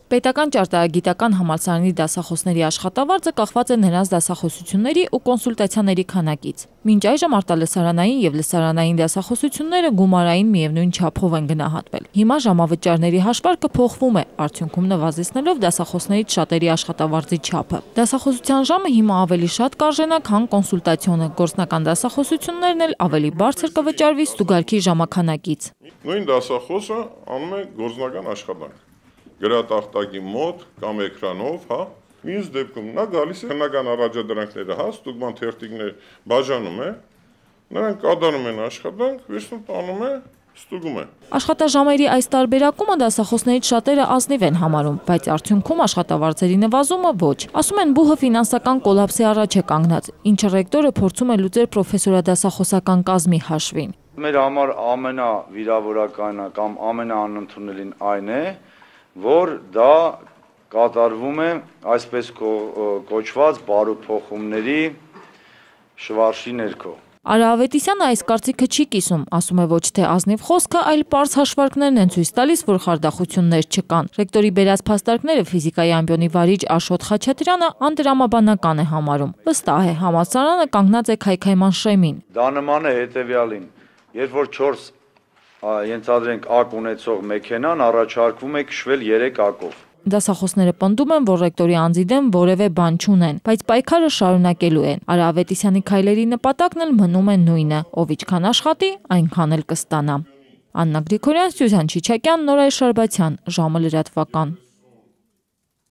Պետական ճարտարագիտական համալսարանի դասախոսների աշխատավարձը կախված է նրանց դասախոսությունների ու կոնսուլտացիաների քանակից։ Մինչ այժմ արտալսարանային եւ լսարանային դասախոսությունները գումարային միևնույն չափով են գնահատվել։ Հիմա ժամավճարների հաշվարկը փոխվում է, արդյունքում նվազեցնելով դասախոսներից շատերի աշխատավարձի չափը։ Դասախոսության ժամը հիմա ավելի շատ կարժենա, քան կոնսուլտացիոնը, գործնական դասախոսություններն էլ ավելի բարձր կվճարվի ստուգարքի ժամանականակից։ Նույն դասախոսը անում է գործնական աշխատանք։ Գրատախտակի մոտ կամ էկրանով, հա, մյուս դեպքում նա գալիս է հնական առաջադրանքները, հա, ստուգման թերթիկներ բաժանում է, նրանք կատարում են աշխատանք, վերջում տանում է, ստուգում է։ Աշխատաժամերի այս տարբերակումը դասախոսներից շատերը ազնիվ են համարում, բայց արդյունքում աշխատավարձերի նվազումը ոչ։ Ասում են բուհը ֆինանսական կոլապսի առաջ է կանգնած, ինչը ռեկտորը փորձում է լուծել պրոֆեսորադասախոսական կազմի հաշվին։ Մեր համար ամենավիրավորականը կամ ամենաանընդունելին այն է, որ դա կատարվում է այսպես կոչված բարոփոխումների շվարշի ներքո։ Արա Ավետիսյանը այս կարծիքը չի կիսում, ասում է ոչ թե ազնիվ խոսքը, այլ պարզ հաշվարկներն են ցույց տալիս, որ խարդախություններ չկան։ Ռեկտորի բերած փաստարկները ֆիզիկայի ամբիոնի վարիչ Աշոտ Խաչատրյանը անդրամաբանական է համարում։ Վստահ է, համալսարանը կանգնած է քայքայման շեմին։ Դա նման է հետևյալին, երբ որ 4 ենթադրենք ակ ունեցող մեքենան առաջարկվում է քշվել 3 ակով։ Դասախոսները պնդում են, որ ռեկտորի անձի դեմ որևէ բան չունեն, բայց պայքարը շարունակելու են։ Արա Ավետիսյանի քայլերի նպատակն էլ մնում է նույնը՝ ով ինչքան աշխատի, այնքան էլ կստանա։ Աննա Գրիգորյան, Սյուզան Չիչակյան, Նորայր Շարբացյան, ժամը լրատվական։